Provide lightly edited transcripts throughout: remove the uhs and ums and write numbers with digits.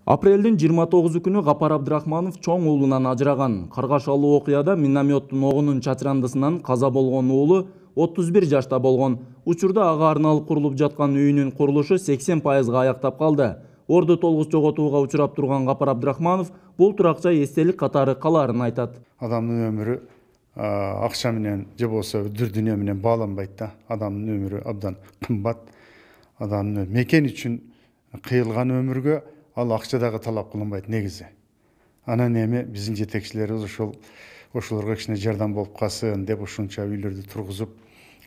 Апрелдин 29 күнү Гапар Абдрахманов чоң уулунан ажыраган. Каргашалуу окуяда минометтин огунун чачырандысынан каза болгон уулу 31 жашта болгон. Учурда ага арналып курулуп жаткан үйүнүн курулушу 80% аяктап калды. Орду толгус жоготууга учурап турган Гапар Абдрахманов бул туракча эстелик катары калаарын айтат. Адамдын өмүрү акча менен же болбосо дүр дүйнө менен бааланбайт да. Адамдын өмүрү абдан кымбат. Адамдын мекен үчүн кыйылган өмүргө ал акча дагы талап кылынбайт негизи. Анан эми биздин жетекчилерибиз ошолорго кичине жардам болуп калсын деп ушунча үйлөрдү тургузуп,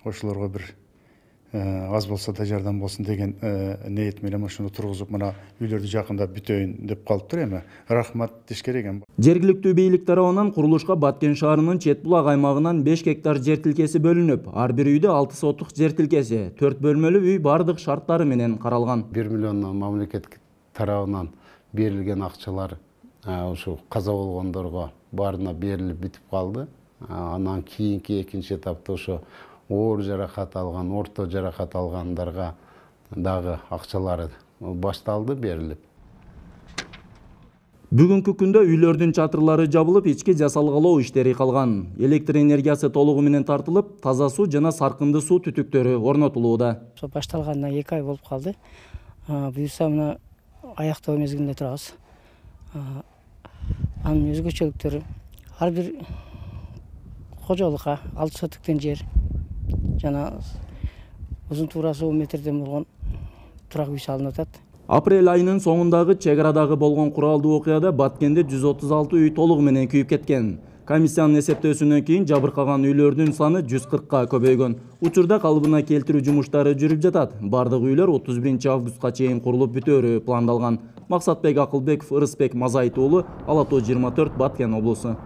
ошолорго бир аз болсо да жардам болсун деген ниет менен ошону тургузуп, мына үйлөрдү жакында бүтөйүн деп калыптыр эми. Рахмат деш керек эми. Жергиликтүү бийлик тарабынан курулушка Баткен шаарынын чет булак аймагынан 5 гектар жер тилкеси бөлүнүп, ар бир үйдө 6 соттук жер тилкеси, 4 бөлмөлүү үй бардык шарттары менен каралган. 1 миллиондон мамлекет тарабынан берилген акчалар ушу каза болгондорго баарына берилип бүтүп калды. Анан кийинки экинчи этапта ошо оор жаракат алган, орто жаракат алгандарга дагы акчалары башталды, берилип. Бүгүнкү күндө үйлөрдүн чатырлары жабылып, ички жасалгалоо иштери калган. Электр энергиясы толугу менен тартылып, таза суу жана саркынды суу түтүктөрү орнотулууда. Башталганына 2 ай болуп калды. Буюрса мына аяктоо мезгилинде турабыз. Анын өзгөчөлүктөрү ар бир кожолукка 6 сотуктен жер жана узун туурасы 10 метрден болгон турак үй салынып атат. Апрель айынын соңундагы чек арадагы болгон куралдуу окуяда Баткенде 136 үй толугу менен күйүп кеткен. Комиссиянын эсептөөсүнөн кийин жабыркаган үйлөрдүн саны 140ка көбөйгөн. Учурда калыбына келтирүү жумуштары жүрүп жатат. Бардык үйлөр 31 августка чейин курулуп бүтөөрү пландалган. Максатбек Акылбеков, Ырысбек Мазайыт уулу, Ала Тоо 24, Баткен облусу.